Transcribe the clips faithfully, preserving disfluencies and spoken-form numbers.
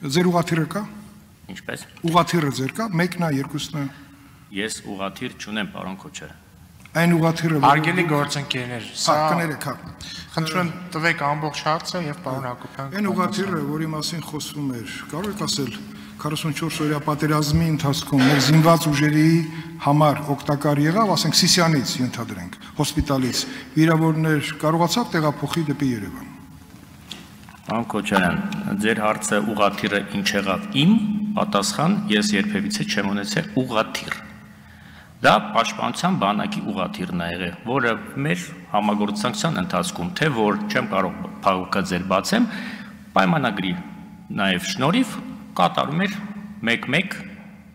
Ձեր ուղղաթիռը կա։ Ինչպես։ Ուղղաթիռը ձեր կա, մեկն է, երկուսն է։ Ես ուղղաթիռ չունեմ, պարոն Քոչարյան։ Այն ուղղաթիռը Հարգելի գործընկերներ, սա կներեք, հա։ Խնդրում տվեք ամբողջ հարցը եւ պարոն Հակոբյան։ Այն ուղղաթիռը, որի մասին խոսվում էր, կարող եք ասել քառասունչորս օրյա պատերազմի ընթացքում մեր զինված ուժերի համար օգտակար եղավ, ասենք Սիսիանից ենթադրենք, հոսպիտալից վիրավորներ կարողացավ տեղափոխի դեպի Երևան։ Պարոն Քոչարյան, ձեր հարցը ուղղաթիռը ինչ եղավ իմ, պատասխան ես երբևիցե չեմ ունեցել ուղղաթիռ։ Դա պաշտպանության բանակի ուղղաթիռն է եղել, որը մեր համագործակցության ընթացքում, թե որ չեմ կարող փակուկը ձեր բացեմ, պայմանագրի նաև շնորհիվ կատարում էր մեկ-մեկ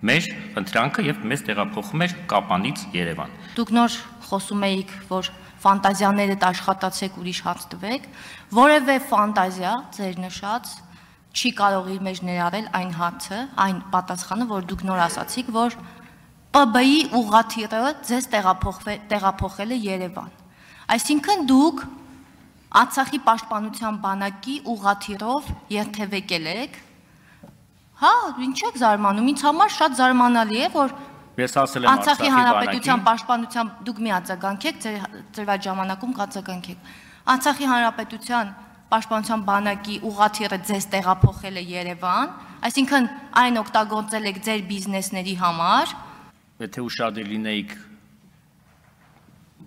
մեր ընտրանքը եւ մեզ տեղափոխում էր Կապանից Երևան։ Դուք նոր խոսում էիք, որ ֆանտազիաներդ աշխատացեք ուրիշ հաց տվեք, որևէ ֆանտազիա ձեր նշած չի կարող իր մեջ ներառել այն հացը, այն պատասխանը, որ դուք նոր ասացիք, որ Պ B-ի ուղղաթիռը ձեզ տեղափոխել է Երևան։ Այսինքն դուք Արցախի պաշտպանության բանակի ուղղաթիռով երթևեկել եք։ Հա, ինչ եք զարմանում, ինձ համար շատ զարմանալի է, որ ես ասել եմ Արցախի հանրապետության պաշտպանության դուք մի արձագանքեք, ձեր այդ ժամանակում կարձագանքեք։ Արցախի հանրապետության պաշտպանության բանակի ուղղաթիռը ձեզ տեղափոխել է Երևան, այսինքն այն օգտագործել եք ձեր բիզնեսների համար։ Եթե ուշադիր լինեիք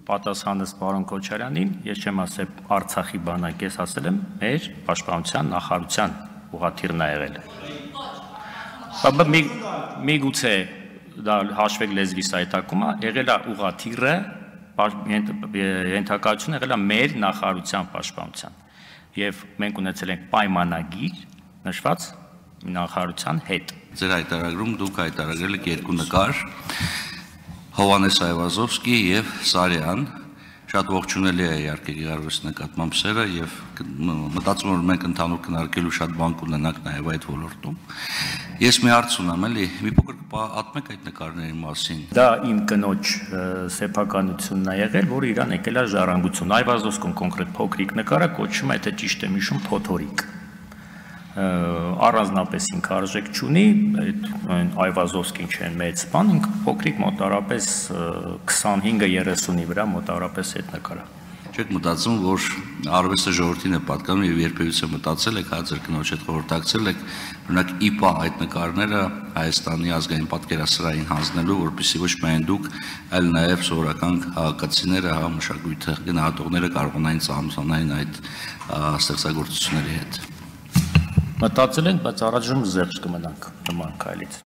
պատասխանս պարոն Քոչարյանին, ես չեմ ասել Արցախի բանակ, ես ասել եմ մեր պաշտպանության նախարարության ուղղաթիռն է եղել։ Միգուցե դա հաշվեք լեզվիս այտակումը, եղել է ուղղաթիռը, ենթակայությունը եղել է մեր նախարարության պաշտպանության։ Եվ մենք ունեցել ենք պայմանագիր նշված նախարարության հետ։ Ձեր հայտարարում դուք հայտարարել եք երկու նկար, Հովհաննես Այվազովսկի եւ Սարյան, շատ ողջունելի է իհարկե գեղարվեստի նկատմամբ սերը եւ մտածում եմ որ մենք ընդհանուր քննարկելու շատ բան կունենանք նաեւ այդ ոլորտում։ Ես մի հարց ունեմ, էլի, մի փոքր պատմեք այդ նկարների մասին։ Դա իմ կնոջ սեփականությունն է եղել, որը իրան եկել է ժառանգություն։ Այվազովսկում կոնկրետ փոքրիկ նկարը կոչվում է, թե ճիշտ է հիշում, փոթորիկ։ Առանձնապես ինքը արժեք չունի, այդ Այվազովսկին չեն մեծ բան, ինքը փոքրիկ մոտարապես քսանհինգը երեսունի վրա մոտարապես այդ նկարը։ Չեք մտածում, որ արվեստը ժողովրդին է պատկանում եւ երբևիցե մտածել եք, հա ձեր կնոջ հետ խորհրդակցել եք, օրինակ ի պա այդ նկարները Հայաստանի ազգային պատկերասրահին հանձնելու, որպեսզի ոչ միայն դուք, այլ նաեւ սովորական քաղաքացիները, հա մշակույթը գնահատողները կարողանային ծանոթանալ այդ ստեղծագործությունների հետ։ Մտածել ենք, բայց առաջում զերծ կմնանք նման քայլից։